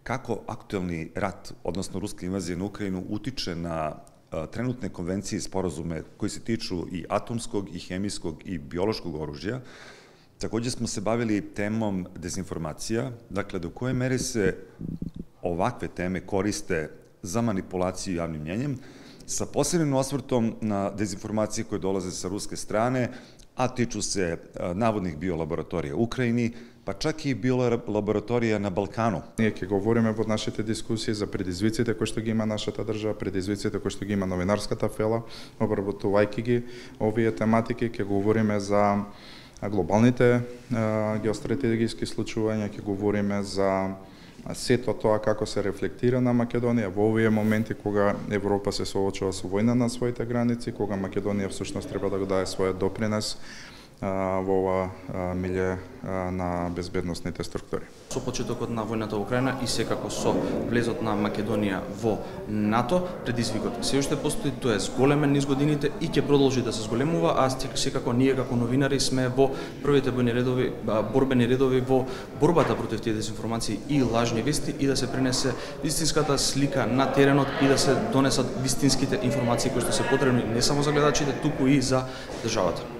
kako aktuelni rat, odnosno ruska invazija na Ukrajinu, utiče na trenutne konvencije i sporazume koji se tiču i atomskog, i hemijskog, i biološkog oružja. Takođe smo se bavili temom dezinformacija, dakle, do koje mere se ovakve teme koriste za manipulaciju javnim mnjenjem, sa posebnim osvrtom na dezinformacije koje dolaze sa ruske strane, a tiču se navodnih biolaboratorija u Ukrajini, pa čak и биолабораторија на Балкану. Ние ќе говориме во нашите дискусии за предизвиците кои што ги има нашата држава, предизвиците кои што ги има новинарската фела, обработувајќи ги овие тематики, ќе говориме за глобалните геостратегиски случувања, ќе говориме за сето тоа како се рефлектира на Македонија во овие моменти кога Европа се соочува со војна на своите граници, кога Македонија всушност треба да го даде својот допринес во ова милје на безбедносните структури. Со почетокот на војната во Украина и секако со влезот на Македонија во НАТО, предизвикот се уште постои, тоа е зголемен низ годините и ќе продолжи да се зголемува, а секако ние како новинари сме во првите борбени редови во борбата против тие дезинформации и лажни вести и да се пренесе вистинската слика на теренот и да се донесат вистинските информации кои што се потребни не само за гледачите, туку и за државата.